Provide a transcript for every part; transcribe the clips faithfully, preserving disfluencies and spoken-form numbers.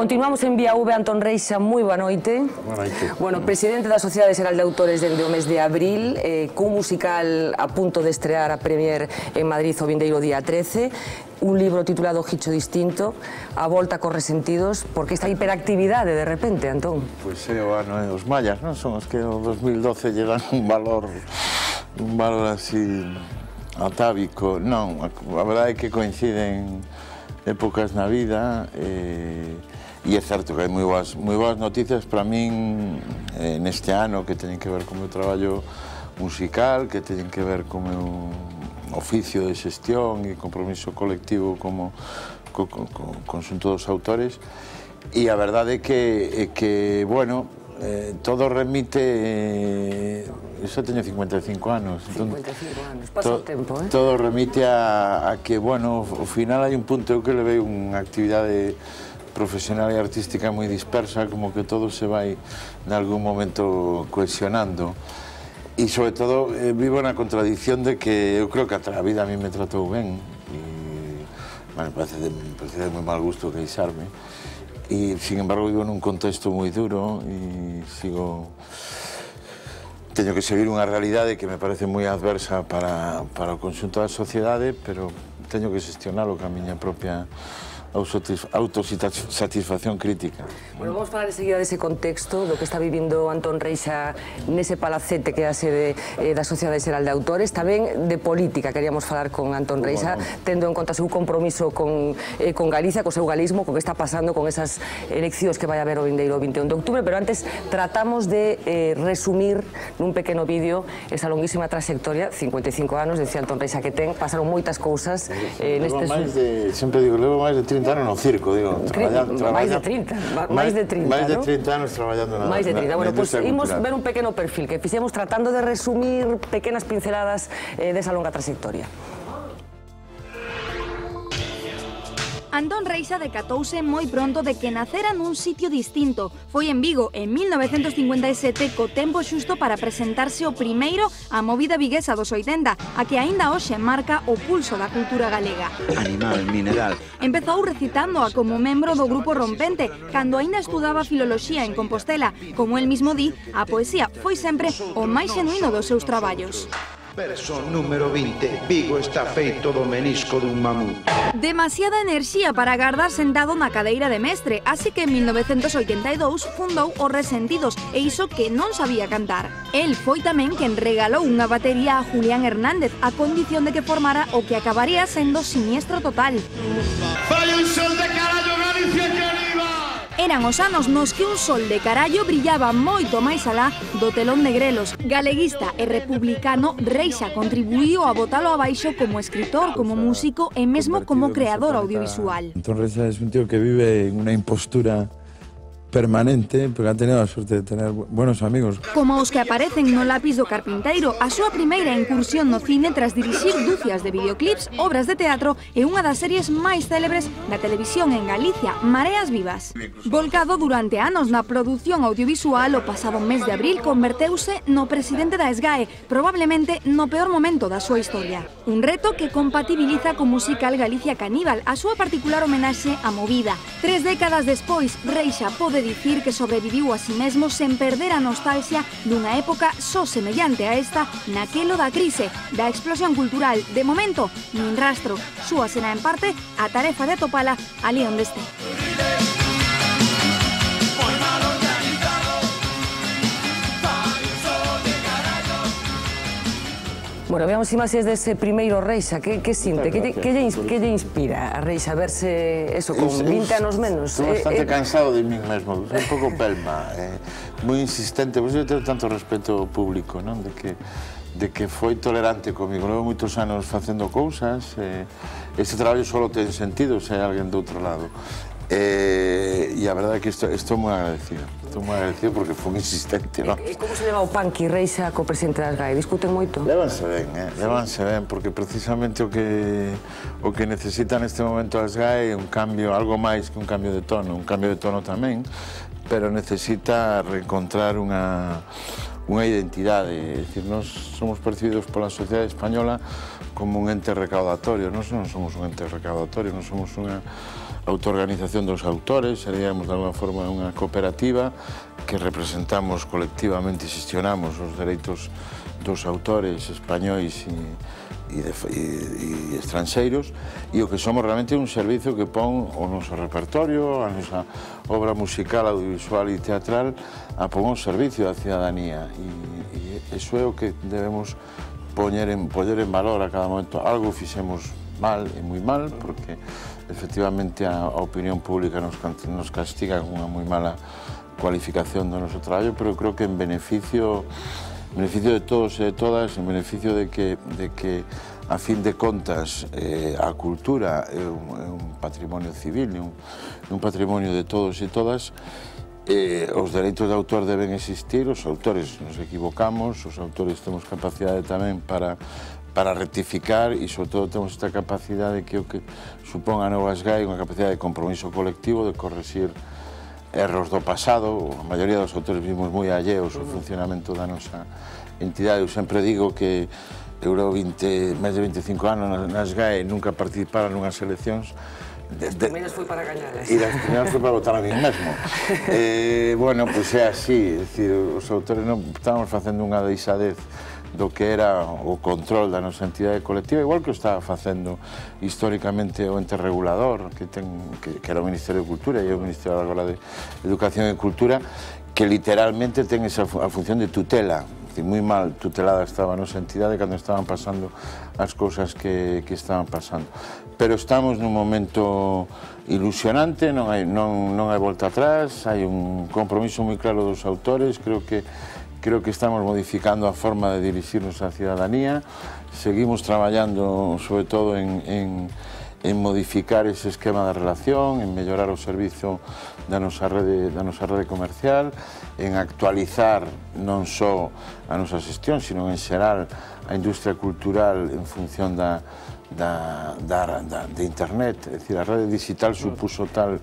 Continuamos en Vía V, Antón Reixa, moi boa noite. Boa noite. Bueno, presidente da Sociedade Xeral de Autores dende o mes de abril, eh, cun musical a punto de estrear a premier en Madrid o vindeiro día trece, un libro titulado Gicho Distinto, a volta cos resentidos, porque esta hiperactividade de repente, Antón? Pois é, o ano e os mallas, non? Son os que o dos mil doce lle dan un valor, un valor así atávico. Non, a verdade é que coinciden épocas na vida e... E é certo que hai moi boas, moi boas noticias para min eh, neste ano que teñen que ver co meu traballo musical, que teñen que ver co meu oficio de xestión e compromiso colectivo como co, co, co conxunto dos autores. E a verdade é que, é que bueno, eh, todo remite... Eh, eu xa teño cincuenta e cinco anos. cincuenta e cinco anos, pasa o tempo, eh? Todo remite a, a que, bueno, ao final hai un punto eu que levei unha actividade profesional e artística moi dispersa, como que todo se vai en algún momento cohesionando. E, sobre todo, eh, vivo na contradicción de que eu creo que a vida a mí me tratou ben. E, bueno, parece de, parece de moi mal gusto queixarme. E, sin embargo, vivo nun contexto moi duro e sigo... Teño que seguir unha realidade que me parece moi adversa para, para o conxunto da sociedade, pero teño que xestionalo ca miña propia autosatisfacción crítica. Bueno, vamos falar enseguida dese contexto, do que está vivindo Antón Reixa nese palacete que é a sede eh, da Sociedade Xeral de Autores, tamén de política, queríamos falar con Antón Reixa, bueno, tendo en conta o seu compromiso con, eh, con Galicia, co seu galismo, co que está pasando con esas eleccións que vai haber o vindeiro vinte e un de outubro, pero antes tratamos de eh, resumir nun pequeno vídeo esa longuísima trayectoria, cincuenta e cinco anos, decía Antón Reixa que ten, pasaron moitas cousas eh, nestes... máis de, sempre digo, levo máis de trinta anos no circo, digo, traballando... máis de trinta, máis de trinta, máis de trinta anos traballando na... máis de trinta, bueno, pois imos ver un pequeno perfil que fixemos tratando de resumir pequenas pinceladas desa longa trayectoria. Antón Reixa decatouse moi pronto de que nacera nun sitio distinto. Foi en Vigo, en mil novecentos cincuenta e sete, co tempo xusto para presentarse o primeiro á movida viguesa dos oitenta, a que aínda hoxe marca o pulso da cultura galega. Animal, mineral. Empezou recitándoa como membro do grupo Rompente, cando aínda estudaba filoloxía en Compostela. Como el mismo di, a poesía foi sempre o máis xenuíno dos seus traballos. Verso número vinte. Vigo está feito do menisco dun mamut. Demasiada enerxía para agardar sentado na cadeira de mestre, así que en mil novecentos oitenta e dous fundou Os Resentidos, e iso que non sabía cantar. El foi tamén quen regalou unha batería a Julián Hernández, a condición de que formara o que acabaría sendo Siniestro Total. Fai un sol de carallo, Galicia que arriba! Eran os anos nos que un sol de carallo brillaba moito máis alá do telón de grelos. Galeguista e republicano, Reixa contribuíu a botalo abaixo como escritor, como músico e mesmo como creador audiovisual. Antón Reixa es un tío que vive en una impostura permanente, porque ha tenido a suerte de tener buenos amigos. Como os que aparecen no lápiz do carpinteiro, a súa primeira incursión no cine tras dirixir dúcias de videoclips, obras de teatro e unha das series máis célebres da televisión en Galicia, Mareas Vivas. Volcado durante anos na produción audiovisual, o pasado mes de abril converteuse no presidente da SGAE, probablemente no peor momento da súa historia. Un reto que compatibiliza co musical Galicia Caníbal, a súa particular homenaxe á movida. Tres décadas despois, Reixa pode dicir que sobreviviu a si mesmo sen perder a nostalgia dunha época só semellante a esta naquelo da crise, da explosión cultural. De momento, nin rastro. Súa será en parte a tarefa de atopala ali onde este. Bueno, veamos imaxes dese primeiro Reixa, que, que sinte, que, que, lle, que lle inspira a Reixa verse, eso, con vinte anos menos? Estou bastante eh, cansado de min mesmo, un pouco pelma, eh, moi insistente, pois eu teño tanto respeto ao público, non? De que, de que foi tolerante comigo, levo moitos anos facendo cousas, eh, este traballo só ten sentido se hai alguén do outro lado. Eh, e a verdade é que estou, estou moi agradecido, estou moi agradecido porque foi insistente, non? E como se leva o Panqui Reixa co presidente da SGAE? Discuten moito? Lévanse ben, eh? Lévanse ben, porque precisamente o que o que necesita neste momento a SGAE é un cambio, algo máis que un cambio de tono, un cambio de tono tamén, pero necesita reencontrar unha unha identidade, é dicir, nós somos percibidos pola sociedade española como un ente recaudatorio, nós non somos un ente recaudatorio, nós somos unha autoorganización dos autores, seríamos de alguna forma unha cooperativa que representamos colectivamente e xestionamos os dereitos dos autores españois e, e, de, e, e estranxeiros, e o que somos realmente un servicio que pon o noso repertorio, a nosa obra musical, audiovisual e teatral, a pon ao servicio da cidadanía, e, e iso é o que debemos poñer en, poñer en valor a cada momento. Algo fixemos mal e moi mal, porque efectivamente a, a opinión pública nos, nos castiga con unha moi mala cualificación do noso traballo, pero creo que en beneficio en beneficio de todos e de todas, en beneficio de que, de que a fin de contas, eh, a cultura é un, é un patrimonio civil, é un, é un patrimonio de todos e todas, eh, os dereitos de autor deben existir, os autores nos equivocamos, os autores temos capacidade tamén para para rectificar e, sobre todo, temos esta capacidade que o que supón a Nova SGAE, unha capacidade de compromiso colectivo, de corregir erros do pasado. A maioría dos autores vimos moi alleos ao funcionamento da nosa entidade. Eu sempre digo que eu levo máis de veinticinco anos na SGAE, nunca participaron nunhas eleccións. As primeiras foi para gañalas. E as primeiras foi para votar a mí mesmo. eh, bueno, pois é así, é dicir, os autores non estábamos facendo unha deixadez do que era o control da nosa entidade colectiva, igual que o estaba facendo históricamente o ente regulador, que, ten, que, que era o Ministerio de Cultura e o Ministerio agora de Educación e Cultura, que literalmente ten esa a función de tutela. Moi mal tutelada estaba a nosa entidade cando estaban pasando as cousas que, que estaban pasando. Pero estamos nun momento ilusionante, non hai, non, non hai volta atrás, hai un compromiso moi claro dos autores, creo que Creo que estamos modificando a forma de dirixirnos á cidadanía, seguimos traballando sobre todo en, en, en modificar ese esquema de relación, en mellorar o servizo da nosa rede, da nosa rede comercial, en actualizar non só a nosa xestión, sino en xeral a industria cultural en función da, da, da, da, de internet. É dicir, a rede digital supuso tal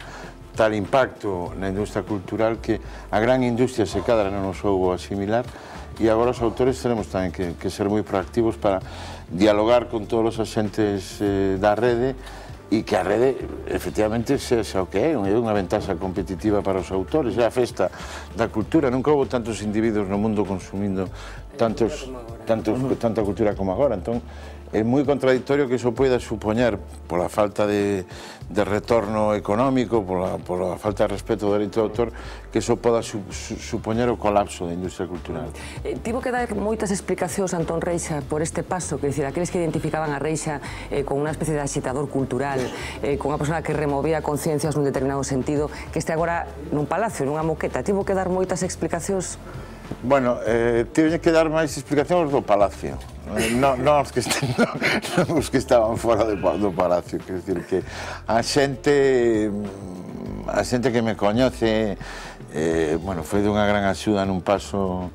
tal impacto na industria cultural que a gran industria se cadra non nos soubo asimilar, e agora os autores teremos tamén que, que ser moi proactivos para dialogar con todos os axentes eh, da rede, e que a rede efectivamente sexa o que é, é unha ventaxa competitiva para os autores, é a festa da cultura. Nunca houve tantos individuos no mundo consumindo tantos, tantos, tanta cultura como agora, entón é moi contradictorio que iso poida supoñer, pola falta de, de retorno económico, pola, pola falta de respeto do dereito de autor, que iso poda su, su, supoñer o colapso da industria cultural. Eh, tivo que dar moitas explicacións Antón Reixa por este paso, que dicir, aqueles que identificaban a Reixa eh, con unha especie de agitador cultural, eh, con unha persona que removía conciencias nun determinado sentido, que este agora nun palacio, nunha moqueta, tivo que dar moitas explicacións? Bueno, eh, tiveñe que dar máis explicacións do Palacio, non no, os, que no, os que estaban fora do, do Palacio, quer dizer que a xente, a xente que me coñece, eh, bueno, foi dunha gran axuda nun paso,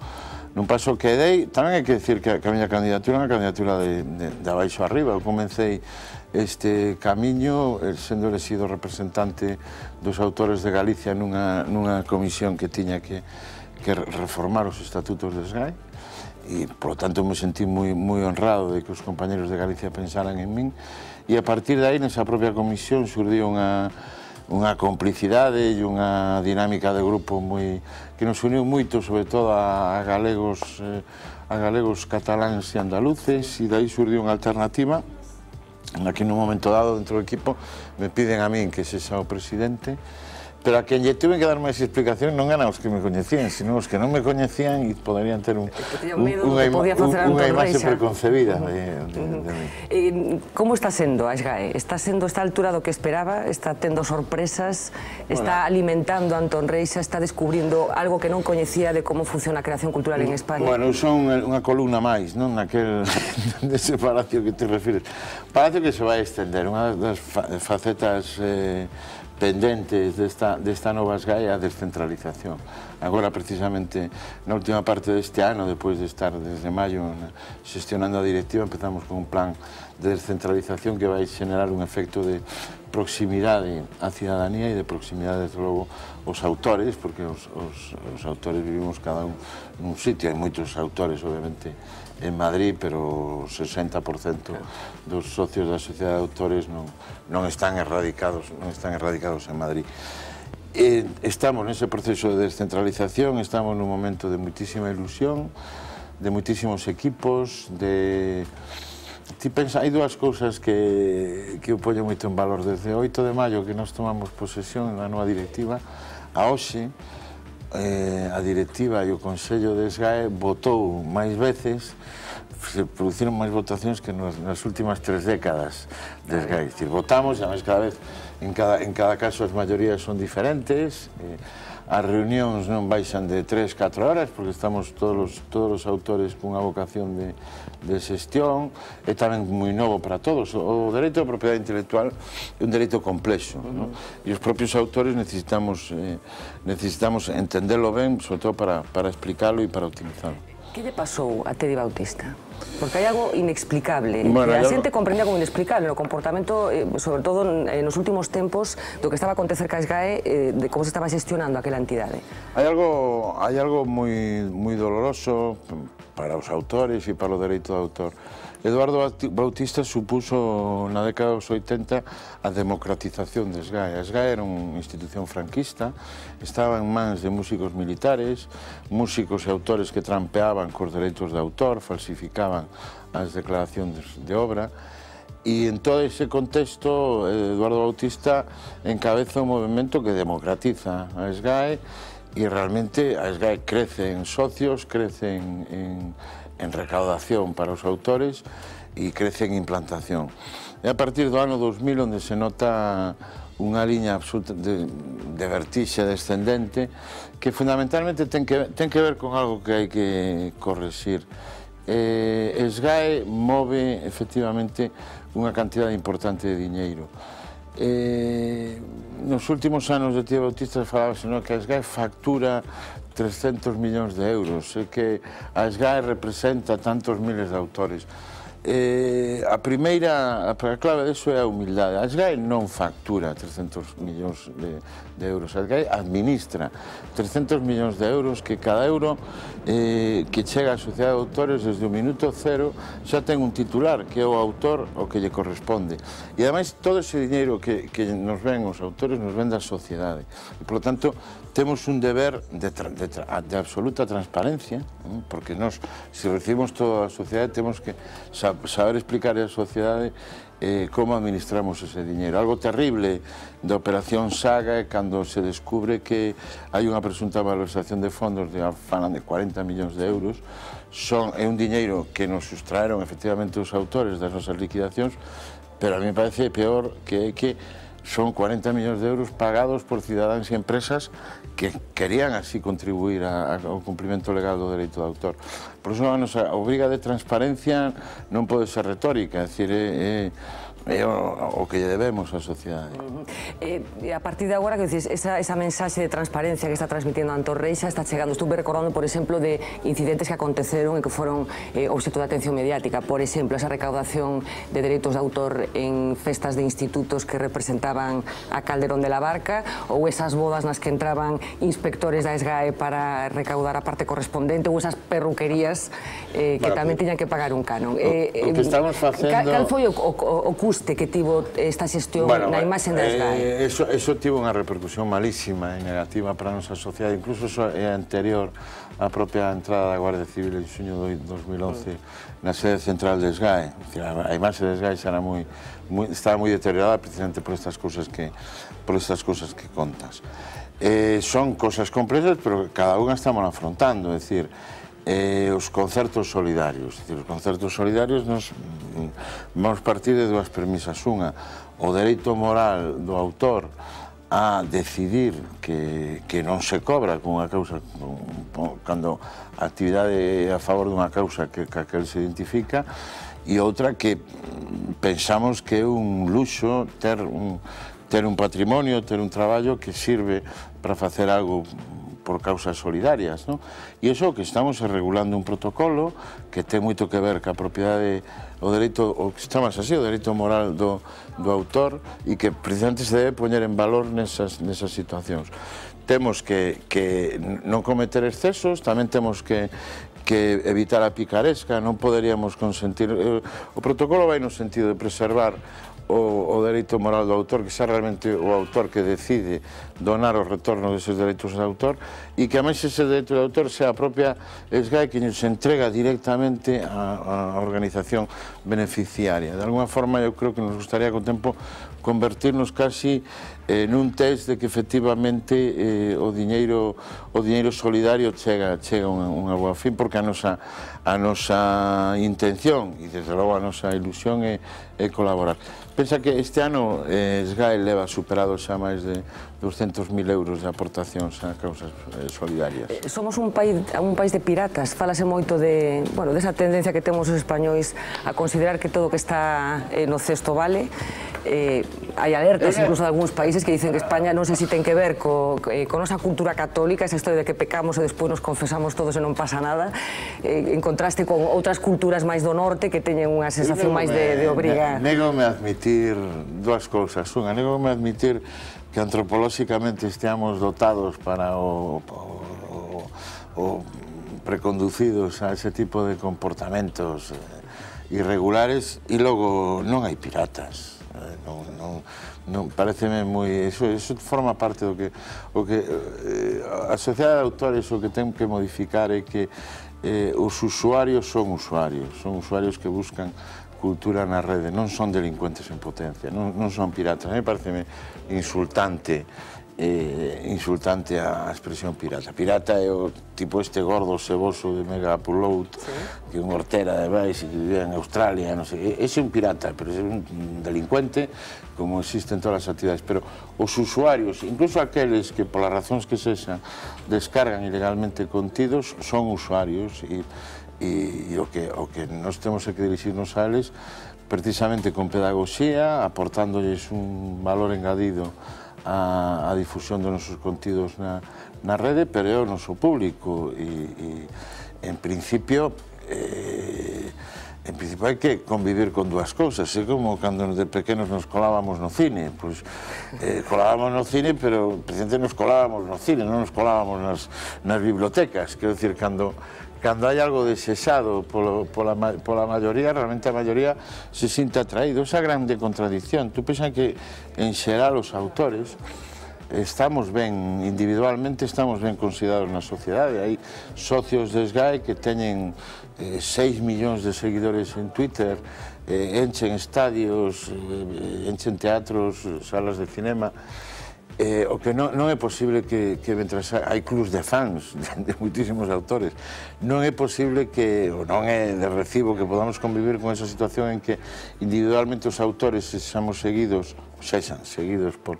nun paso que dei. Tamén hai que decir que a, que a miña candidatura é unha candidatura de, de, de abaixo arriba. Eu comecei este camiño sendo elegido representante dos autores de Galicia nunha, nunha comisión que tiña que que reformar os estatutos de SGAE, e, por lo tanto, me sentí moi, moi honrado de que os compañeros de Galicia pensaran en min, e a partir de aí, nesa propia comisión, surdiu unha, unha complicidade e unha dinámica de grupo moi, que nos uniu moito, sobre todo a, a galegos, eh, a galegos cataláns e andaluces, e dai surdiu unha alternativa, na que nun momento dado, dentro do equipo, me piden a min que sexa o presidente, pero a quen lle tuve que dar máis explicación non eran os que me coñecían, sino os que non me coñecían e poderían ter un, un, unha, unha imaxe preconcebida de, de, de mí. Eh, como está sendo a SGAE? Está sendo esta altura do que esperaba? Está tendo sorpresas? Está bueno, alimentando a Antón Reixa? Está descubrindo algo que non coñecía de como funciona a creación cultural en España? Bueno, son unha columna máis, non? Naquel, dese palacio que te refires. Palacio que se vai extender, unha das facetas eh, pendentes desta, desta nova SGAE é a descentralización. agora precisamente na última parte deste ano, depois de estar desde maio xestionando a directiva, empezamos con un plan de descentralización que vai xenerar un efecto de proximidade á cidadanía e de proximidade, desde logo, aos autores, porque os, os, os autores vivimos cada un nun sitio, hai moitos autores, obviamente, en Madrid, pero o sesenta por cento dos socios da sociedade de autores non, non están erradicados, non están erradicados en Madrid. E estamos nese proceso de descentralización, estamos nun momento de muitísima ilusión, de muitísimos equipos, de... Ti pensa, hai dúas cousas que, que eu poño moito en valor. Desde o oito de maio que nós tomamos posesión da nova directiva, a hoxe, eh, a directiva e o Consello de SGAE votou máis veces, se produciron máis votacións que nos, nas últimas tres décadas de SGAE. Dicir, votamos, e además cada vez, en cada, en cada caso as maiorías son diferentes, eh, as reunións non baixan de tres a catro horas, porque estamos todos os, todos os autores cunha vocación de, de xestión, é tamén moi novo para todos. O dereito á propiedade intelectual é un dereito complexo, uh-huh. ¿no? E os propios autores necesitamos, eh, necesitamos entendelo ben, sobre todo para, para explicarlo e para optimizarlo. Que lle pasou a Tedi Bautista? Porque hai algo inexplicable, bueno, que a yo... xente comprendía como inexplicable o comportamento, eh, sobre todo nos últimos tempos, do que estaba a acontecer ca SGAE, eh, de como se estaba xestionando aquela entidade. Hai algo, hai algo moi, moi doloroso para os autores e para o dereito de autor. Eduardo Bautista supuso na década dos oitenta a democratización de SGAE. A SGAE era unha institución franquista, estaba en mans de músicos militares, músicos e autores que trampeaban cos dereitos de autor, falsificaban as declaracións de obra, e en todo ese contexto Eduardo Bautista encabeza un movimento que democratiza a SGAE e realmente a SGAE crece en socios, crece en, en en recaudación para os autores e crece en implantación. É a partir do ano dos mil onde se nota unha liña absoluta de, de vertixe descendente que fundamentalmente ten que, ten que ver con algo que hai que correxir. Eh, SGAE move efectivamente unha cantidade importante de diñeiro. Eh, nos últimos anos de Tedi Bautista falábase no, que a SGAE factura trescentos millóns de euros, e que a SGAE representa tantos miles de autores. Eh, a primeira, a clave disso é a humildade. A SGAE non factura trescentos millóns de, de euros, a SGAE administra trescentos millóns de euros que cada euro eh, que chega á sociedade de autores desde o minuto cero xa ten un titular, que é o autor o que lle corresponde. E ademais todo ese diñeiro que, que nos ven os autores nos ven da sociedade. E, por lo tanto, temos un deber de, de, de absoluta transparencia, porque nos, se recibimos toda a sociedade, temos que saber explicar á sociedade eh, como administramos ese diñeiro. Algo terrible da Operación Saga é cando se descubre que hai unha presunta malversación de fondos de, falan de cuarenta millóns de euros. Son, é un diñeiro que nos sustraeron efectivamente os autores das nosas liquidacións, pero a mí me parece peor que que son cuarenta millóns de euros pagados por cidadáns e empresas que querían así contribuir a, a, ao cumprimento legal do dereito de autor. Por iso, a nosa obriga de transparencia non pode ser retórica, é dicir, é, é o, o que lle debemos á sociedade. Uh-huh. eh, a partir de agora, que dices, esa, esa mensaxe de transparencia que está transmitindo Antón Reixa está chegando. Estuve recordando, por exemplo, de incidentes que aconteceron e que foron eh, obxecto de atención mediática. Por exemplo, esa recaudación de dereitos de autor en festas de institutos que representaban a Calderón de la Barca, ou esas bodas nas que entraban inspectores da SGAE para recaudar a parte correspondente, ou esas perruquerías eh, que bueno, tamén tiñan que pagar un canon. O, eh, o que estamos facendo... Cal foi o, o, o custe que tivo esta xestión bueno, na imaxe da SGAE? Eh, eso, eso tivo unha repercusión malísima e negativa para a nosa sociedade, incluso eso é anterior á propia entrada da Guardia Civil en xuño de dos mil once na sede central de SGAE. A imaxe de SGAE xa era moi, moi, estaba moi deteriorada precisamente por estas cousas que, por estas cousas que contas. Eh, son cosas complexas, pero cada unha estamos afrontando, é dicir, eh, os concertos solidarios. Dicir, os concertos solidarios nos vamos partir de dúas premisas. Unha, o dereito moral do autor a decidir que, que non se cobra con unha causa, cando a actividade é a favor dunha causa que, que aquel se identifica, e outra que pensamos que é un luxo ter un, ter un patrimonio, ter un traballo que sirve para facer algo por causas solidarias, non? E iso que estamos regulando un protocolo que ten moito que ver ca propiedade, o dereito, o que chamamos así, o dereito moral do, do autor, e que precisamente se debe poñer en valor nesas, nesas situacións. Temos que, que non cometer excesos, tamén temos que que evitar a picaresca, non poderíamos consentir... O protocolo vai no sentido de preservar o, o dereito moral do autor, que sea realmente o autor que decide donar o retorno deses dereitos de autor, e que, a máis, ese dereito de autor sea a propia SGAE que nos entrega directamente a, a organización beneficiaria. De alguna forma, eu creo que nos gustaría con tempo convertirnos casi eh, nun test de que efectivamente eh, o diñeiro o diñeiro solidario chega chega unha, unha boa fin, porque a nosa a nosa intención e desde logo a nosa ilusión é, é colaborar. Pensa que este ano eh, SGAE leva superado xa máis de doscientos mil euros de aportacións a causas eh, solidarias. Somos un país, un país de piratas, falase moito de, bueno, desa tendencia que temos os españois a considerar que todo o que está eh, no cesto vale. Eh, hai alertas incluso de algúns países que dicen que España non sei se ten que ver co, eh, con nosa cultura católica, esa historia de que pecamos e despois nos confesamos todos e non pasa nada, eh, en contraste con outras culturas máis do norte que teñen unha sensación máis de, de obriga. Negome a admitir dúas cousas. Unha, negome a admitir que antropolóxicamente esteamos dotados para o, o, o preconducidos a ese tipo de comportamentos irregulares, e logo non hai piratas. Non, non, non, pareceme moi... Eso, eso forma parte do que... O que eh, a sociedade de autores o que ten que modificar é que eh, os usuarios son usuarios, son usuarios que buscan cultura na rede, non son delincuentes en potencia, non, non son piratas. A mí pareceme insultante eh, insultante a expresión pirata. Pirata é o tipo este gordo ceboso de Mega Upload, sí, que é un hortera de Vice que vive en Australia, non sei. Ese é un pirata, pero é un delincuente como existe en todas as actividades. Pero os usuarios, incluso aqueles que polas razóns que sexan descargan ilegalmente contidos, son usuarios e, e, e o, que, o que nós temos que dirixirnos a eles precisamente con pedagogía, aportándolles un valor engadido a, a difusión dos nosos contidos na, na rede, pero é o noso público e, e en principio eh, en principio hai que convivir con dúas cousas. É como cando de pequenos nos colábamos no cine, pois eh, colábamos no cine, pero precisamente nos colábamos no cine, non nos colábamos nas, nas bibliotecas. Quero dicir, cando cando hai algo desexado polo, pola, pola maioría, realmente a maioría se sinta atraído. Esa grande contradicción. Tú pensas que, en xeral, os autores estamos ben, individualmente estamos ben considerados na sociedade. Hai socios de SGAE que teñen eh, seis millóns de seguidores en Twitter, eh, enchen estadios, eh, enchen teatros, salas de cinema. Eh, o que non, non é posible que, que mentras hai clubs de fans de, de muitísimos autores, non é posible que, ou non é de recibo que podamos convivir con esa situación en que individualmente os autores sexamos seguidos, sexan seguidos por,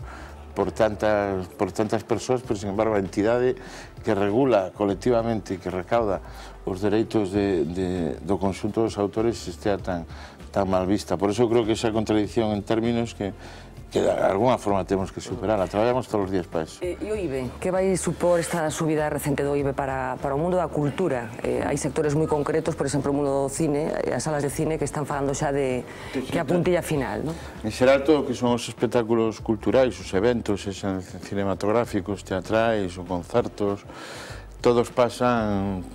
por, tantas, por tantas persoas, pero sin embargo a entidade que regula colectivamente e que recauda os dereitos de, de, do conxunto dos autores estea tan, tan mal vista. Por eso creo que esa contradicción en términos que que de alguna forma temos que superar. Traballamos todos os días para eso. E o I B E? Que vai supor esta subida recente do I B E para, para o mundo da cultura? Eh, hai sectores moi concretos, por exemplo, o mundo do cine, as salas de cine que están falando xa de que a puntilla final, non? En xeral, todo o que son os espectáculos culturais, os eventos, esos cinematográficos, teatrais ou concertos, todos pasan,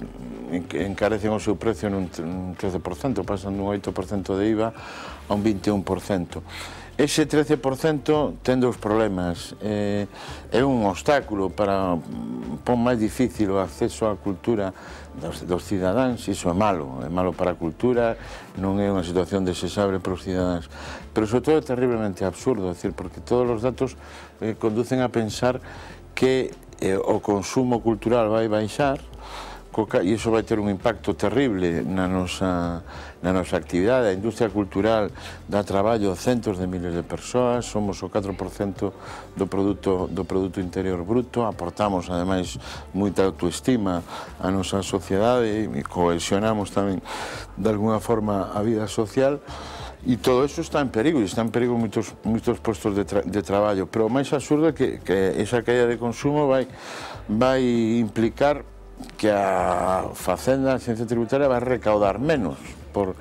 encarecen o seu precio nun trece por cento, pasan dun oito por cento de I V A a un vinte e un por cento. Ese trece por cento ten dous problemas. Eh, é un obstáculo para pon máis difícil o acceso á cultura dos, dos cidadáns. Iso é malo, é malo para a cultura, non é unha situación desexable para os cidadáns. Pero, sobre todo, é terriblemente absurdo, é dicir, porque todos os datos eh, conducen a pensar que eh, o consumo cultural vai baixar, e iso vai ter un impacto terrible na nosa, na nosa actividade. A industria cultural dá traballo a centos de miles de persoas, somos o catro por cento do produto, do produto interior bruto, aportamos, ademais, moita autoestima á nosa sociedade e cohesionamos tamén, de alguna forma, a vida social. E todo eso está en perigo, e está en perigo moitos, moitos postos de, tra de traballo, pero o máis absurdo é que, que esa caída de consumo vai, vai implicar que a Facenda, a Xencia Tributaria, vai recaudar menos por,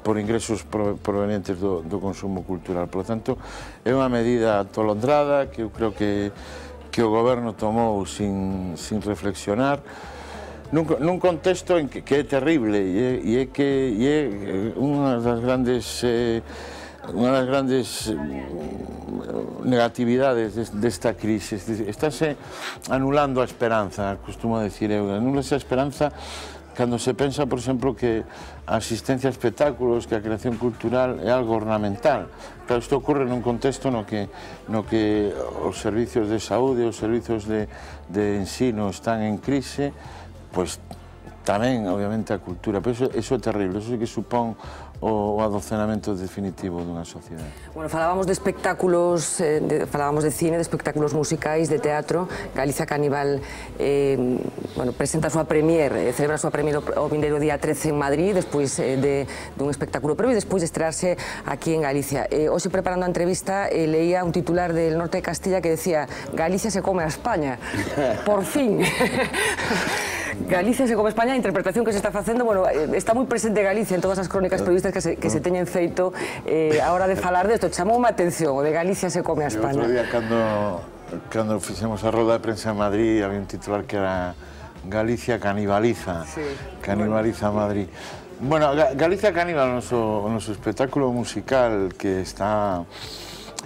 por ingresos provenientes do, do consumo cultural. Por lo tanto, é unha medida atolondrada que eu creo que, que o goberno tomou sin, sin reflexionar, Nun, nun contexto en que, que é terrible e é, é que é unha das grandes eh, unha das grandes negatividades desta crise. Estáse anulando a esperanza, costumo decir eu, anulase a esperanza cando se pensa, por exemplo, que a asistencia a espectáculos, que a creación cultural é algo ornamental. Pero isto ocorre nun contexto no que, no que os servicios de saúde, os servicios de, de ensino están en crise, pois tamén, obviamente, a cultura. Pero iso, iso é terrible, iso é que supón o, o adocenamento definitivo dunha sociedade. Bueno, falábamos de espectáculos, eh, de, falábamos de cine, de espectáculos musicais, de teatro. Galicia Caníbal eh, bueno, presenta a súa premier, eh, celebra a súa premier o vindeiro día trece en Madrid, despois eh, de, dun espectáculo previo e despois de estrearse aquí en Galicia. Eh, hoxe, preparando a entrevista, eh, leía un titular del norte de Castilla que decía Galicia se come a España. Por fin. Galicia se come a España, a interpretación que se está facendo, bueno, está moi presente Galicia en todas as crónicas periodistas que se, que se teñen feito eh, a hora de falar desto. Chamou unha atención, o de Galicia se come a España. O outro día, cando, cando fixemos a roda de prensa en Madrid, había un titular que era Galicia canibaliza, sí. Canibaliza bueno. Madrid. Bueno, Galicia Caníbal, o noso, o noso espectáculo musical que está...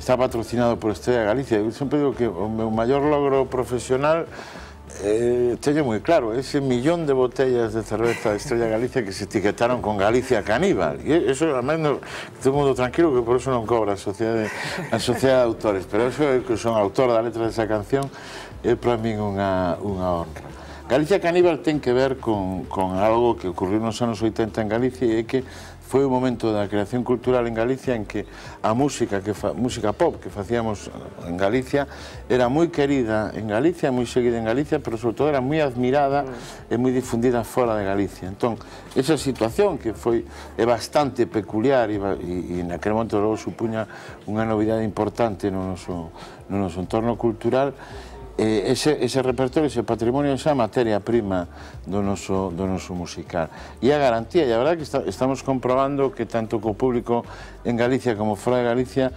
está patrocinado por Estrella Galicia. Eu sempre digo que o meu maior logro profesional Eh, teño moi claro, ese millón de botellas de cerveza de Estrella Galicia que se etiquetaron con Galicia Caníbal. E eso, además, no, todo mundo tranquilo que por eso non cobra a Sociedade, a Sociedade de Autores, pero eso é que son autor da letra desa canción, é para min unha, unha honra. Galicia Caníbal ten que ver con, con algo que ocurriu nos anos oitenta en Galicia e é que foi o momento da creación cultural en Galicia en que a música, que fa, música pop que facíamos en Galicia era moi querida en Galicia, moi seguida en Galicia, pero sobre todo era moi admirada e moi difundida fora de Galicia. Entón, esa situación que foi é bastante peculiar e, e, e naquele momento logo supuña unha novidade importante no noso, no noso entorno cultural. Eh, ese, ese repertorio, ese patrimonio, esa materia prima do noso, do noso musical. E a garantía, e a verdade que está, estamos comprobando que tanto co público en Galicia como fora de Galicia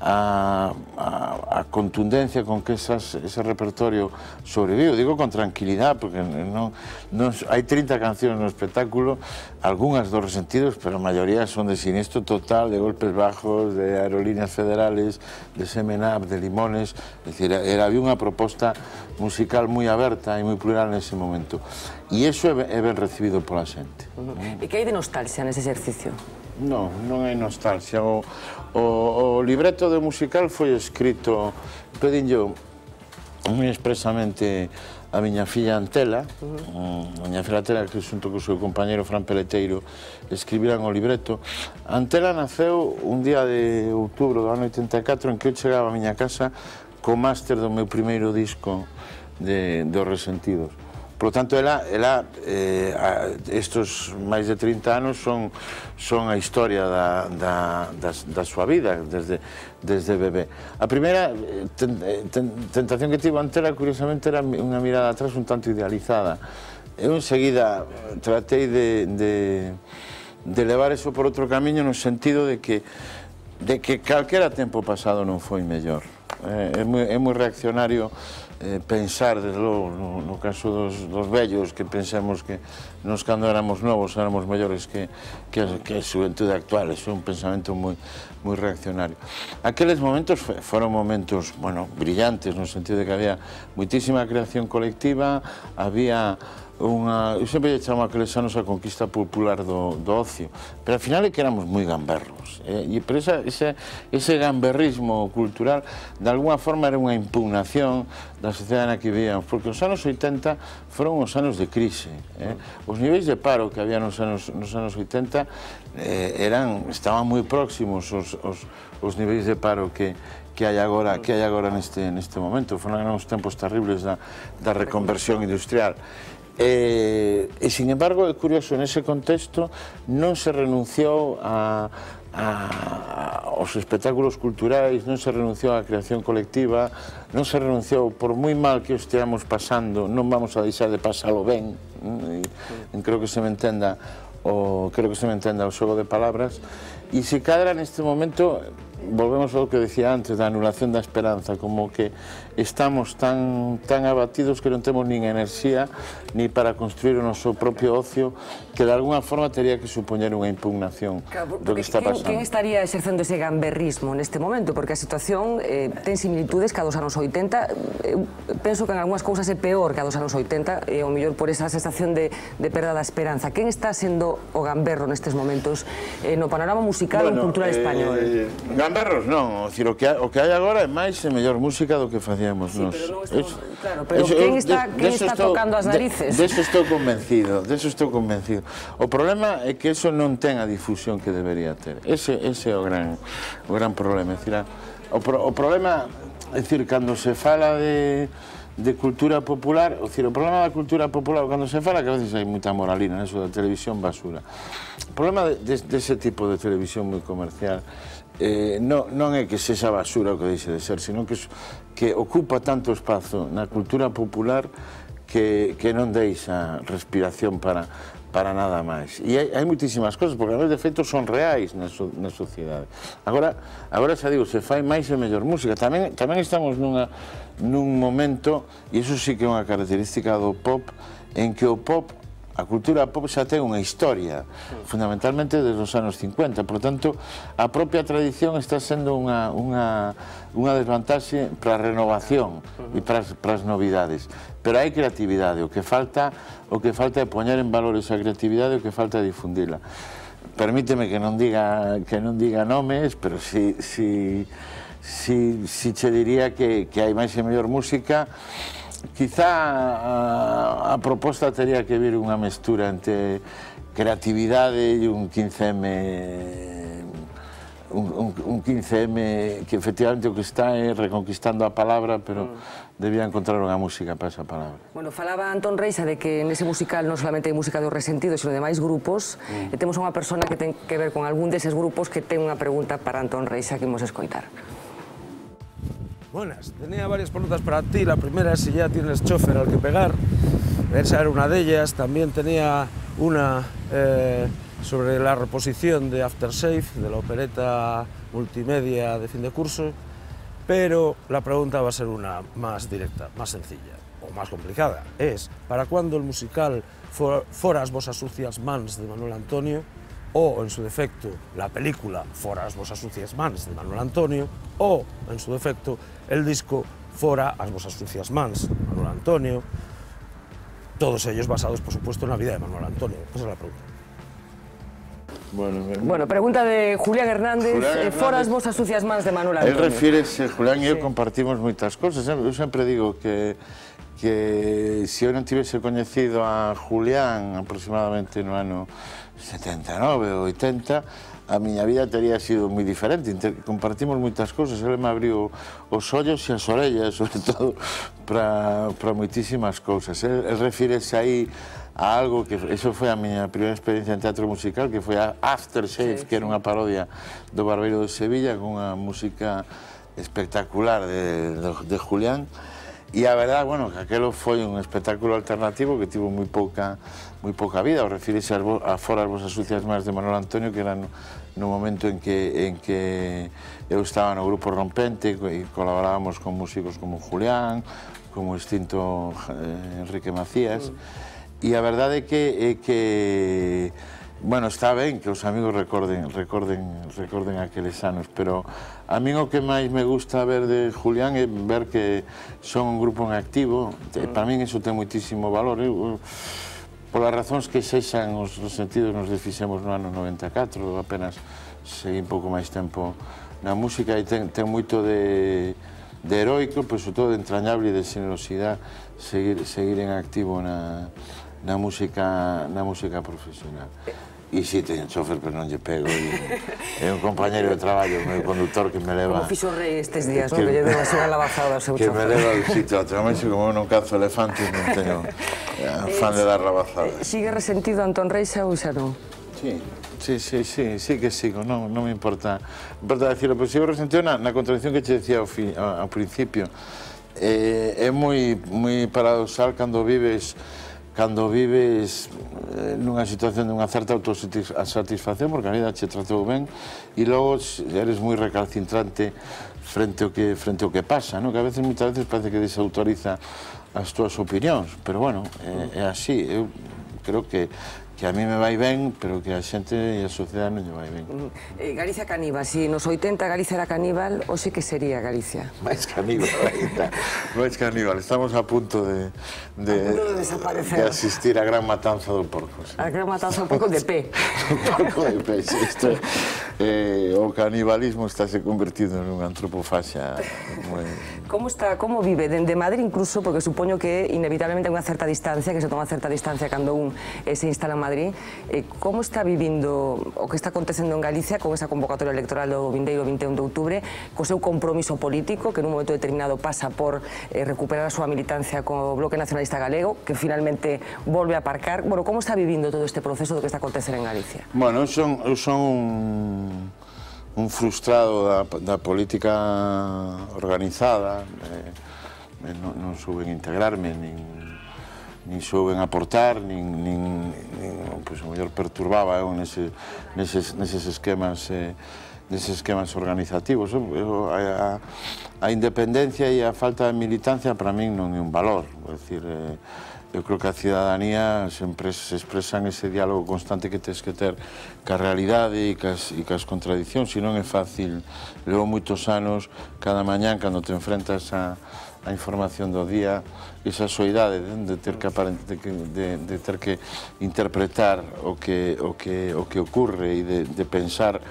a, a, a contundencia con que esas, ese repertorio sobrevive. Digo con tranquilidade, porque non, non, hai trinta cancións no espectáculo, algunhas dos Resentidos, pero a maioría son de Siniestro Total, de Golpes Bajos, de Aerolíneas Federales, de Semen Up, de Limones. É dicir, era, había unha proposta musical moi aberta e moi plural nese momento. E iso é, é ben recibido pola xente. Uh-huh. E que hai de nostalgia nese exercicio? Non, non hai nostalgia. O, o, o libreto do musical foi escrito, pedinllo moi expresamente a miña filla Antela, uh-huh. a miña filla Antela, que xunto co seu compañero Fran Peleteiro escribiran o libreto. Antela naceu un día de outubro do ano oitenta e catro en que eu chegaba a miña casa co máster do meu primeiro disco de, de Os Resentidos. Por lo tanto, ela, ela eh, a, estos máis de trinta anos son, son a historia da, da, da, da súa vida, desde, desde bebé. A primeira ten, ten, tentación que tivo Antela, curiosamente, era unha mirada atrás un tanto idealizada. Eu, enseguida, tratei de, de, de levar eso por outro camiño no sentido de que, de que calquera tempo pasado non foi mellor. É, é, moi, é moi reaccionario Eh, pensar, desde logo, no, no caso dos, dos vellos, que pensemos que nos cando éramos novos éramos mellores que, que, que a xuventude actual. Eso é un pensamento moi, moi reaccionario. Aqueles momentos foron momentos, bueno, brillantes, no sentido de que había moitísima creación colectiva, había unha... Eu sempre lle chamo aqueles anos a conquista popular do, do ocio, pero ao final é que éramos moi gamberros. Eh? E por esa, ese, ese gamberrismo cultural, de alguna forma, era unha impugnación da sociedade na que vivíamos, porque os anos oitenta foron os anos de crise. Eh? Os niveis de paro que había nos anos, nos anos oitenta eh, eran, estaban moi próximos os, os, os niveis de paro que, que hai agora, que hai agora neste, neste momento. Foron uns tempos terribles da, da reconversión industrial. E, e, sin embargo, é curioso, nese contexto non se renunciou a, aos espectáculos culturais, non se renunciou á creación colectiva, non se renunciou, por moi mal que o esteamos pasando, non vamos a deixar de pasalo ben, e creo que se me entenda o creo que se me entenda o xogo de palabras, e se cadra neste momento, volvemos ao que decía antes, da anulación da esperanza, como que estamos tan, tan abatidos que non temos nin enerxía ni para construir o noso propio ocio, que de alguna forma teria que supoñer unha impugnación claro, do que está pasando. Quen estaría exercendo ese gamberrismo neste momento? Porque a situación eh, ten similitudes que a dos anos oitenta. Eu penso que en algunhas cousas é peor que a dos anos oitenta, e ao mellor por esa sensación de, de perda da esperanza. Quen está sendo o gamberro nestes momentos eh, no panorama musical bueno, ou cultural eh, español? Gamberros non, o, decir, o, que hai, o que hai agora é máis e mellor música do que facíamos sí, nos. Pero non estamos, es, claro, pero eso, quen está, de, quen está estou, tocando as narices? De, de eso estou convencido, de eso estou convencido. O problema é que eso non ten a difusión que debería ter. Ese, ese é o gran, o gran problema. É dicir, o, pro, o problema, é dicir, cando se fala de, de cultura popular, o, dicir, o problema da cultura popular, cando se fala, que a veces hai moita moralina, eso da televisión basura. O problema de, de, de ese tipo de televisión moi comercial eh, non, non é que sexa basura o que deixe de ser, sino que, que ocupa tanto espazo na cultura popular que, que non deixa respiración para, para nada máis. E hai, hai moitísimas cosas, porque a veces de feito son reais na, so, na sociedade. Agora, agora xa digo, se fai máis e mellor música. Tamén, tamén estamos nunha, nun momento, e iso sí que é unha característica do pop, en que o pop, a cultura pop xa ten unha historia, fundamentalmente desde os anos cincuenta, por tanto, a propia tradición está sendo unha, unha, unha desvantaxe para a renovación e para as, para as novidades. Pero hai creatividade, o que falta, o que falta é poñer en valor esa creatividade, o que falta é difundila. Permíteme que non diga, que non diga nomes, pero si, si, si, si che diría que, que hai máis e mellor música. Quizá a, a proposta teria que vir unha mestura entre creatividade e un quince eme un, un, un quince eme que efectivamente o que está é reconquistando a palabra, pero mm. debía encontrar unha música para esa palabra. Bueno, falaba Antón Reixa de que nese musical non solamente hai música do Resentido, sino de máis grupos, mm. e temos unha persona que ten que ver con algún deses grupos que ten unha pregunta para Antón Reixa que imos escoitar. Buenas, tenía varias preguntas para ti. La primera es si ya tienes chofer al que pegar. Esa era una de ellas. También tenía una eh, sobre la reposición de Aftershave, de la opereta multimedia de fin de curso. Pero la pregunta va a ser una más directa, más sencilla o más complicada. Es, ¿para cuándo el musical for, Foras vosas sucias mans de Manuel Antonio? O, en su defecto, la película Foras vosas sucias mans de Manuel Antonio, o, en su defecto, el disco Fora as vosas sucias mans de Manuel Antonio, todos ellos basados, por supuesto, en la vida de Manuel Antonio. Esa es la pregunta. Bueno, bueno, pregunta de Julián Hernández, Julián Hernández. Foras vosas sucias mans de Manuel Antonio. Él refírese, Julián e eu sí. compartimos moitas cosas. Eu sempre digo que que se eu non tivese coñecido a Julián aproximadamente no ano setenta e nove ou oitenta, a miña vida teria sido moi diferente. Inter compartimos moitas cousas, ele me abriu os ollos e as orellas, sobre todo, para, para moitísimas cousas. El, el refírese aí a algo que, eso foi a miña primeira experiencia en teatro musical, que foi a Aftershave, sí, que era unha parodia do Barbeiro de Sevilla, con unha música espectacular de, de, de Julián. E a verdade, bueno, que aquelo foi un espectáculo alternativo que tivo moi pouca, moi pouca vida. O refírese a Foras vosas sucias mans de Manuel Antonio, que era no, no momento en que, en que eu estaba no grupo Rompente e colaborábamos con músicos como Julián, como o extinto eh, Enrique Macías. Mm. E a verdade é que, é que bueno, está ben que os amigos recorden, recorden, recorden aqueles anos, pero a min o que máis me gusta ver de Julián é ver que son un grupo en activo. Para min iso ten moitísimo valor. Eu, polas razóns que sexan os Resentidos nos desfixemos no ano noventa e catro, apenas segui un pouco máis tempo na música e ten, ten moito de, de heroico, pero sobre todo de entrañable e de generosidade seguir, seguir en activo na, na, música, na música profesional. E si, teño chofer, pero non lle pego. É un compañero de traballo, o meu conductor que me leva... Como fixo o rei estes días, non? Que lle deu así unha lavazada ao seu chofer. Que me leva ao sitio, naturalmente, como eu non cazo elefantes, non teño fan de dar lavazadas. Sigue resentido Antón Reixa ou xa non? Sí, sí, sí, sí, sí que sigo, non, non me importa, me importa decirlo, pero sigo resentido na, na contradicción que che decía ao, fi, ao, ao principio. Eh, é moi, moi paradoxal cando vives cando vives eh, nunha situación de unha certa autosatisfacción porque a vida che tratou ben e logo eres moi recalcitrante frente ao que, frente ao que pasa, no? Que a veces, moitas veces, parece que desautoriza as túas opinións, pero bueno, é, é así, eu creo que que a mí me vai ben, pero que a xente e a sociedade non lle vai ben. Eh, Galicia caníbal, si nos oitenta Galicia era caníbal, hoxe que sería Galicia? Máis caníbal, máis caníbal. Estamos a punto de, de, a punto de desaparecer. De asistir á gran matanza do porco. Sí. A gran matanza un pouco de pé. Un pouco de pé, sí. Isto, eh, o canibalismo está se convertido en unha antropofaxia. Muy... Como está, como vive? Dende Madrid incluso, porque supoño que inevitablemente hai unha certa distancia, que se toma certa distancia cando un eh, se instala en Madrid. Eh, como está vivindo o que está acontecendo en Galicia con esa convocatoria electoral do vindeiro vinte e un de outubro, co seu compromiso político, que nun momento determinado pasa por eh, recuperar a súa militancia co Bloque Nacionalista Galego, que finalmente volve a aparcar? Bueno, como está vivindo todo este proceso do que está acontecendo en Galicia? Bueno, eu son, eu son un, un frustrado da, da política organizada, eh, non, non souben integrarme, nin nin souben aportar, nin, nin, nin pois, o mellor perturbaba eu nese, neses, neses esquemas eh, neses esquemas organizativos. Eu, a, a independencia e a falta de militancia para min non é un valor, é dicir, eh, eu creo que a cidadanía sempre se expresa en ese diálogo constante que tens que ter ca realidade e cas, e cas contradicións, e non é fácil. Levo moitos anos, cada mañán, cando te enfrentas a a información do día, esa soidade de ter que, de, de ter que interpretar o que, o que, o que ocurre e de, de pensar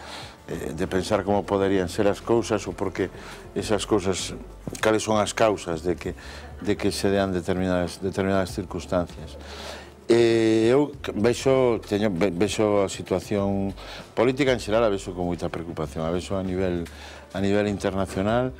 de pensar como poderían ser as cousas ou porque esas cousas, cales son as causas de que, de que se dean determinadas, determinadas circunstancias. E eu vexo, teño, vexo a situación política en xeral, a vexo con moita preocupación, a vexo a nivel, a nivel internacional.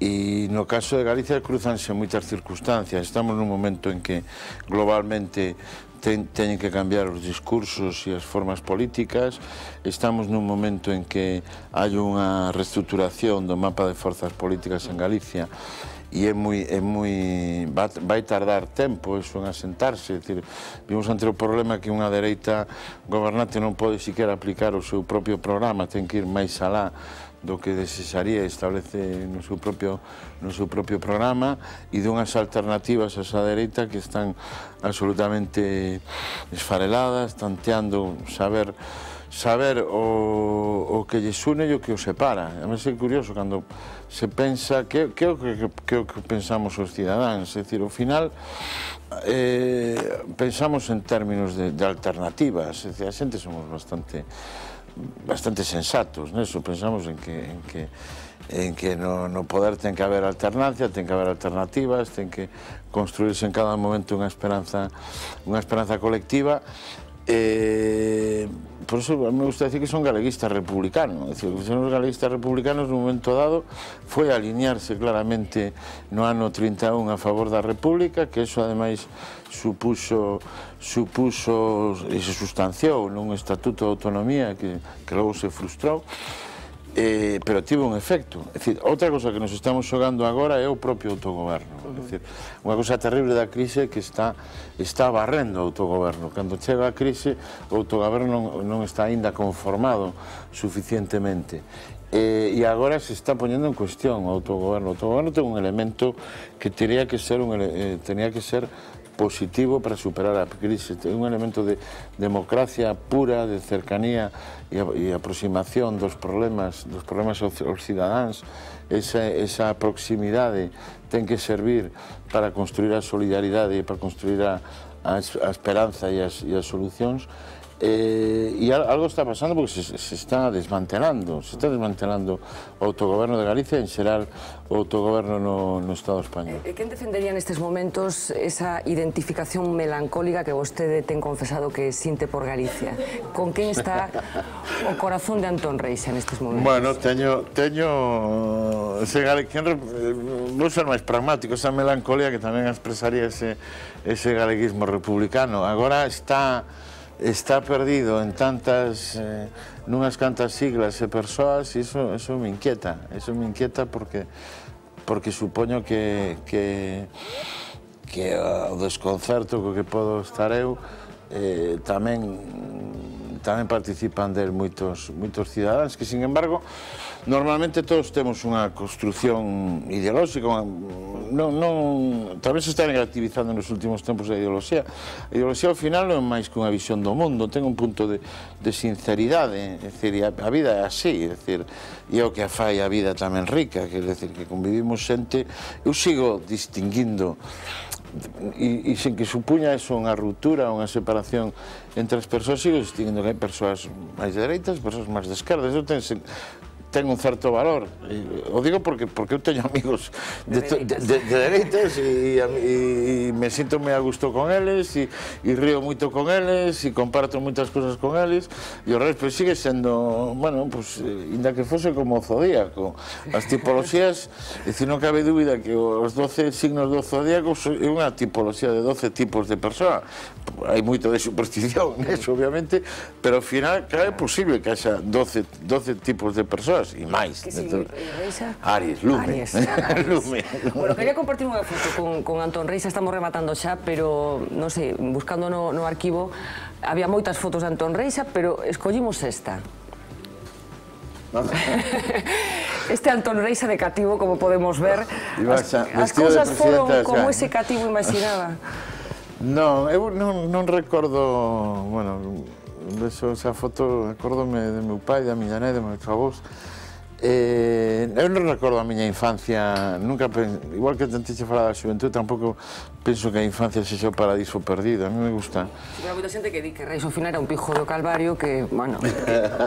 E no caso de Galicia cruzanse moitas circunstancias. Estamos nun momento en que globalmente ten, teñen que cambiar os discursos e as formas políticas. Estamos nun momento en que hai unha reestruturación do mapa de forzas políticas en Galicia e é moi, é moi, vai tardar tempo eso en asentarse. É dicir, vimos ante o problema que unha dereita gobernante non pode siquiera aplicar o seu propio programa, ten que ir máis alá do que desexaría establece no seu propio, no seu propio programa e dunhas alternativas a esa dereita que están absolutamente esfareladas, tanteando saber saber o, o que lles une e o que os separa. A mí é curioso cando se pensa que, que, que, que, que pensamos os cidadáns, é dicir, ao final eh, pensamos en términos de, de alternativas, é dicir, a xente somos bastante bastante sensatos, neso, pensamos en que, en que, en que no, no poder ten que haber alternancia, ten que haber alternativas, ten que construirse en cada momento unha esperanza, unha esperanza colectiva. Eh, por eso me gusta decir que son galeguistas republicanos, es decir, que son os galeguistas republicanos nun momento dado foi alinearse claramente no ano trinta e un a favor da República, que eso ademais supuso, supuso e se sustanciou nun estatuto de autonomía que, que logo se frustrou. Eh, pero tivo un efecto. É dicir, outra cosa que nos estamos xogando agora é o propio autogoberno. É dicir, unha cosa terrible da crise que está, está barrendo o autogoberno. Cando chega a crise, o autogoberno non, non está aínda conformado suficientemente. Eh, e agora se está poñendo en cuestión o autogoberno. O autogoberno ten un elemento que teria que ser, un, eh, tenía que ser positivo para superar a crise. É un elemento de democracia pura, de cercanía e, e aproximación dos problemas, dos problemas aos cidadáns. Esa, esa proximidade ten que servir para construir a solidaridade e para construir a, a, a esperanza e as, e as solucións. Eh, e algo está pasando porque se, se está desmantelando, se está desmantelando o autogoberno de Galicia, en xeral o autogoberno no, no Estado español. E quen defendería nestes momentos esa identificación melancólica que vostede ten confesado que sinte por Galicia? Con quen está o corazón de Antón Reixa nestes momentos? Bueno, teño, teño ese galeguismo, vou ser máis pragmático, esa melancolía que tamén expresaría ese, ese galeguismo republicano. Agora está está perdido en tantas, eh, nunhas cantas siglas e persoas, e iso, iso me inquieta, iso me inquieta porque, porque supoño que, que, que o desconcerto co que podo estar eu, eh, tamén, tamén participan del moitos, moitos cidadáns que, sin embargo, normalmente todos temos unha construción ideolóxica, non, non, tamén se está negativizando nos últimos tempos a ideoloxía. A ideoloxía ao final non é máis que unha visión do mundo, ten un punto de, de sinceridade, é dicir, a, a vida é así, é dicir, e é o que a fai a vida tamén rica, que é dicir, que convivimos xente, eu sigo distinguindo, e, e sen que supuña eso unha ruptura, unha separación entre as persoas, sigo distinguindo que hai persoas máis de dereitas, persoas máis de esquerdas, eu ten, ten un certo valor. O digo porque, porque eu teño amigos de, de, de, de dereitas e, e, e me sinto moi a gusto con eles e, e río moito con eles e comparto moitas cosas con eles e o resto pues, sigue sendo, bueno, pues, inda que fose como o zodíaco. As tipoloxías, é dicir, non cabe dúbida que os doce signos do zodíaco é unha tipoloxía de doce tipos de persoa. Hai moito de superstición neso, obviamente, pero ao final, claro, é posible que haxa doce, doce tipos de persoas e máis. Que sigue Reixa? Aries, lume. Aries, Aries. Lume. Bueno, quería compartir unha foto con, con Antón Reixa, estamos rematando xa, pero, non sei, buscando no, no arquivo, había moitas fotos de Antón Reixa, pero escollimos esta. Este Antón Reixa de cativo, como podemos ver, as, as cousas foron como ese cativo imaginaba. Non, eu non, non recordo, bueno, esa foto, acórdome de meu pai, da miña nai, de meus avós. Eh, eu non recordo a miña infancia, nunca, igual que tentiche falar da xuventude, tampouco penso que a infancia sexa o paradiso perdido, a mí me gusta. Hai moita xente que di que Reixa ao final era un pijo do Calvario, que, bueno,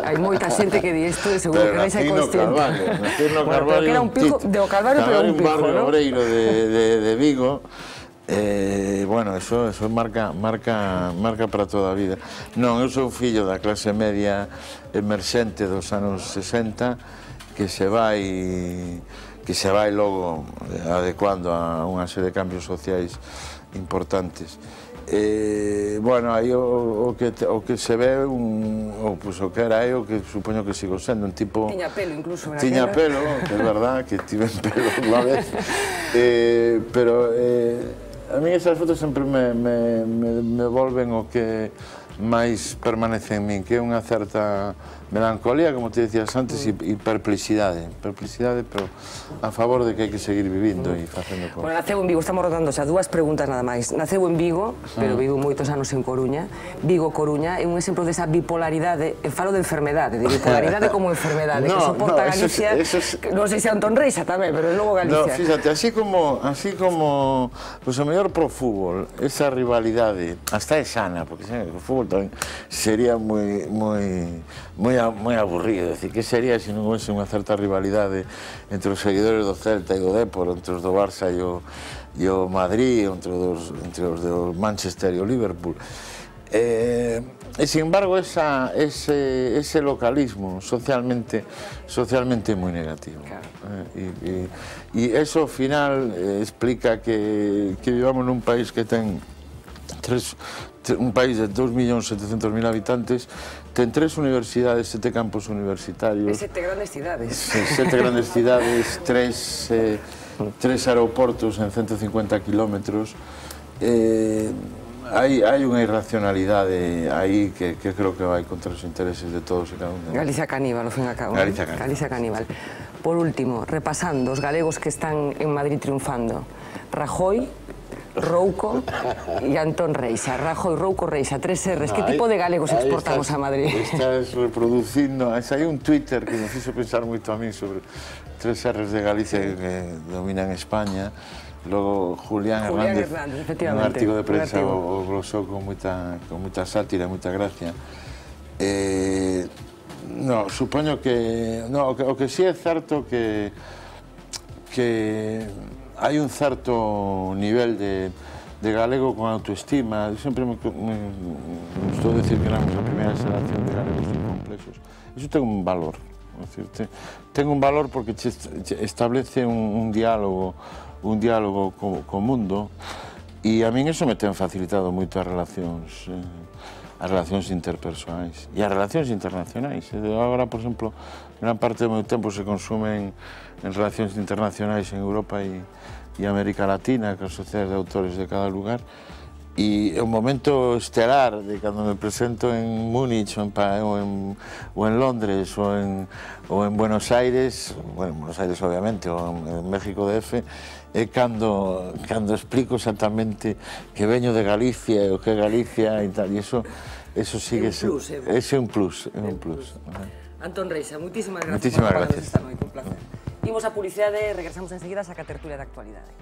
hai moita xente que di isto e seguro que Reixa é consciente. Pero bueno, pero que era un pijo do Calvario, pero un pijo, ¿no? Un barrio obreiro de, de, de Vigo. Eh, bueno, eso, eso marca, marca, marca para toda a vida. Non, eu sou fillo da clase media emerxente dos anos sesenta que se vai que se vai logo adecuando a unha serie de cambios sociais importantes. Eh, bueno, aí o, o, que, o que se ve un, o, pues, o que era eu, que supoño que sigo sendo un tipo... Tiña pelo incluso. Tiña pelo, que é verdad, que tiven pelo unha vez. Eh, pero... Eh, a mí esas fotos sempre me, me, me, me volven o que máis permanece en min, que é unha certa melancolía, como te decías antes, mm. e perplexidade. Perplexidade, pero a favor de que hai que seguir vivindo mm. e facendo cosas. Bueno, naceu en Vigo, estamos rodando xa dúas preguntas nada máis. Naceu en Vigo, pero mm. vivo moitos anos en Coruña. Vigo, Coruña, é un exemplo desa bipolaridade, e falo de enfermedade, de bipolaridade como enfermedade, no, que soporta no, Galicia, eso es, eso es... non sei se Antón Reixa tamén, pero logo Galicia. No, fíjate, así como, así como, pues o mellor pro fútbol, esa rivalidade, hasta é sana, porque o fútbol tamén sería moi, moi, moi moi aburrido, decir, que sería se non hoxe unha certa rivalidade entre os seguidores do Celta e do Depor, entre os do Barça e o, e o Madrid, entre os, entre os do Manchester e o Liverpool. Eh, e, sin embargo, esa, ese, ese localismo socialmente, socialmente moi negativo. Claro. Eh, e, e, e eso, ao final, eh, explica que, que vivamos nun país que ten tres, un país de dos millóns setecentos mil habitantes, ten tres universidades, sete campos universitarios. E sete grandes cidades. Sete grandes cidades, tres, eh, tres aeroportos en ciento cincuenta kilómetros. Eh, hai, hai unha irracionalidade aí que, que creo que vai contra os intereses de todos e cada un. Galicia caníbal, ao fin e a cabo. Galicia caníbal. Galicia caníbal. Por último, repasando os galegos que están en Madrid triunfando. Rajoy, Rouco e Antón Reixa. Rajoy, Rouco, Reixa, tres erres. Que tipo de galegos exportamos a Madrid? Estás reproducindo... Hai un Twitter que me fixo pensar moito a mí sobre tres erres de Galicia que dominan España. Logo Julián Hernández, un artigo de prensa o glosou con moita sátira, moita gracia. No, supoño que... O que si é certo que... que hai un certo nivel de, de galego con autoestima. Eu sempre me, me, me gustou decir que éramos a primeira xeración de galegos complexos. Iso ten un valor. Decir, te, ten un valor porque che, che establece un, un diálogo, un diálogo co, co mundo, e a min iso me ten facilitado moito as relacións. Eh, as relacións interpersonais e as relacións internacionais. Agora, por exemplo, gran parte do meu tempo se consumen en relacións internacionais en Europa e, e América Latina, con sociedades de autores de cada lugar, e é un momento estelar de cando me presento en Múnich ou en, ou en, ou en Londres ou en, ou en Buenos Aires, bueno, en Buenos Aires obviamente, ou en, en México D F, é cando, cando explico exactamente que veño de Galicia e o que é Galicia e tal, e iso, iso sigue sendo... Ese é un plus, é un plus. Antón Reixa, moitísimas gracias. Moitísimas gracias. Esta noite, un placer. Imos a publicidade e regresamos enseguida a saca tertulia de actualidade.